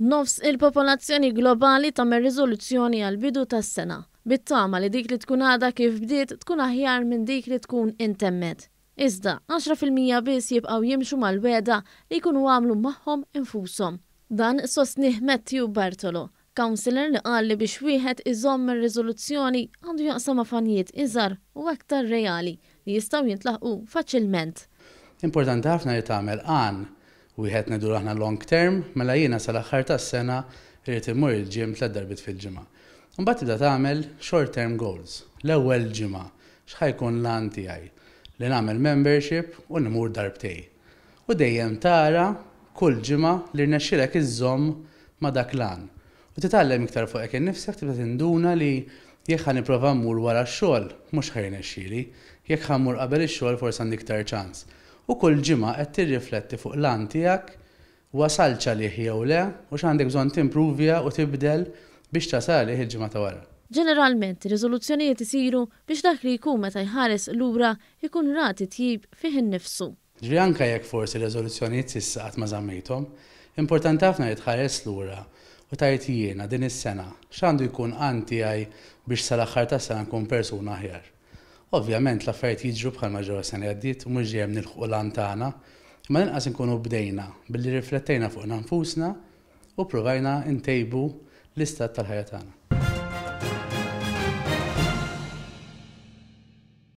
Nofs il-popolazzjoni globali tagħmel riżoluzzjoni għall-bidu tas-sena, bit-tama li dik li tkun għadha kif bdiet tkun aħjar minn dik li tkun intemmet. Iżda, 10% biss jibqgħu jimxu mal-wegħda li jkunu għamlu magħhom infushom. Dan sostnieh Matthew Bartolo, counsellor li qal li biex wieħed iżomm ir-riżoluzzjoni għandu jaqsamha f'għanijiet iżgħar u aktar reali li jistgħu jintlaħqu faċilment. Importanti ħafna li tagħmel għan Wieħed ngħidulu aħna long term, mela jiena sal-aħħar tas-sena rrid immur il-gym tlett darbiet fil-ġimgħa. Imbagħad tibda tagħmel short term goals. L-ewwel ġimgħa x'ħa jkun l-għan tiegħi? Li nagħmel membership u li mmur darbtej. U dejjem tara kull ġimgħa li rnexxielek iżżomm ma' dak l-għan. U titgħallem iktar fuqek innifsek tibda tinduna li jekk ħa nipprova mmur wara x-xogħol mhux ħa jirnexxieli, jekk ħa mmur qabel ix-xogħol forsi għandi iktar ċans. U kull ġimgħa qed tirrifletti fuq l-għan tiegħek, wasaltx għalih jew le u x'għandek bżonn timpruvja u tibdel biex tasal għalih il-ġimgħa ta' wara. Ġeneralment, riżoluzzjonijiet isiru biex dak li jkun meta jħares lura jkun ra titjib fih innifsu. Ġifieri anke jekk forsi r-reżoluzzjonijiet s'issa qatt ma żammejthom, importanti ħafna li tħares lura u tgħid jiena din is-sena x'għandu jkun għan tiegħi biex sal-aħħar tas-sena nkun persuna aħjar. Ovvjament l-affarijiet jiġru bħalma ġraw is-sena li għaddiet u mhux dejjem nilħqu l-għan tagħna, imma l-inqas inkunu bdejna billi rriflettejna fuqna nfusna u ppruvajna ntejbu l-istat tal-ħajja tagħna.